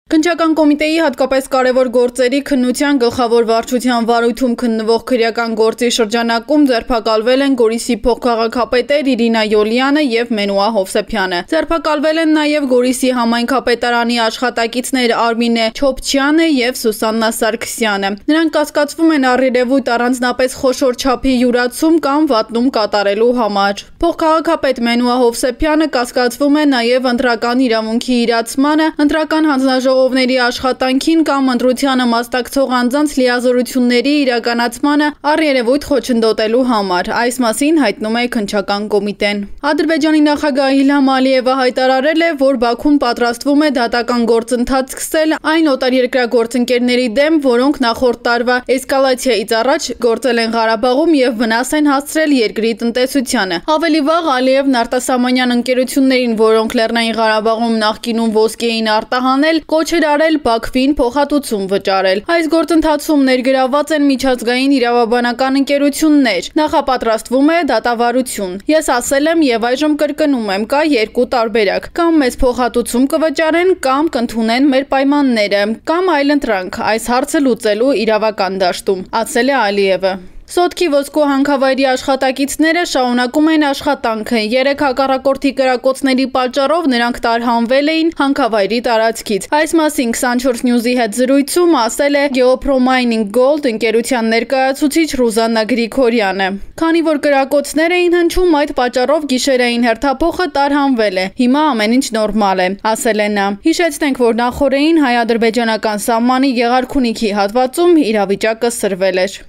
Քննչական կոմիտեի հատկապես կարևոր գործերի քննության գլխավոր վարչության վարույթում քննվող քրեական գործի շրջանակում ձերբակալվել են Գորիսի փոխքաղաքապետեր Իրինա Յոլյանը և Մենուա Հովսեփյանը։ Ձերբակալվել են նաև Գորիսի համայնքապետարանի աշխատակիցներ Արմինե Չոփչյանը և Սուսաննա Սարգսյանը։ Նրանք կասկածվում են առերևույթ առանձնապես խոշոր չափի յուրացում կամ վատնում կատարելու համար։ Փոխքաղաքապետ Մենուա Հովսեփյանը կասկածվում է նաև ընտրական իրավունքի իրացմանը, ընտրական հանձնաժողովների աշխատանքին կամ ընտրությանը մասնակցող անձանց լիազորությունների իրականացմանը առերևույթ խոչընդոտելու համար։ Այս մասին հայտնում է քննչական կոմիտեն։ Ադրբեջանի նախագահ Իլհամ Ալիևը հայտարարել է, որ Բաքուն պատրաստվում է դատական գործընթաց սկսել այն օտարերկրյա գործընկերների դեմ, որոնք նախորդ տարվա էսկալացիայից առաջ գործել են Ղարաբաղում և վնաս են հասցրել երկրի տնտեսությանը։ Ավելի վաղ Ալիևն արտասահմանյան ընկերություններին, որոնք Լեռնային Ղարաբաղում նախկինում ոսկի էին արտահանել, կոչ էր արել Բաքվին փոխհատուցում վճարել։ Այս գործընթացում ներգրավված են միջազգային իրավաբանական ընկերություններ։ Նախապատրաստվում է դատավարություն։ Ես ասել եմ և այժմ կրկնում եմ, կա երկու տարբերակ։ Կամ մեզ փոխհատուցում կվճարեն, կամ կընդունեն մեր պայմանները, կամ այլընտրանք այս հարցը լուծելու իրավական դաշտում, ասել է Ալիևը։ Սոտքի ոսկու հանքավայրի աշխատակիցները շարունակում են աշխատանքը։ 3 հակառակորդի կրակոցների պատճառով նրանք տարհանվել էին հանքավայրի տարածքից։ Այս մասին 24 News-ի հետ զրույցում ասել է Geopro Mining Gold ընկերության ներկայացուցիչ Ռուզաննա Գրիգորյանը։ Քանի որ կրակոցներ էին հնչում, այդ պատճառով գիշերային հերթափոխը տարհանվել է։ Հիմա ամեն ինչ նորմալ է, ասել է նա։ Հիշեցնենք, որ նախորդին հայ-ադրբեջանական սահմանի Գեղարքունիքի հատվածում իրավիճակը սրվել էր։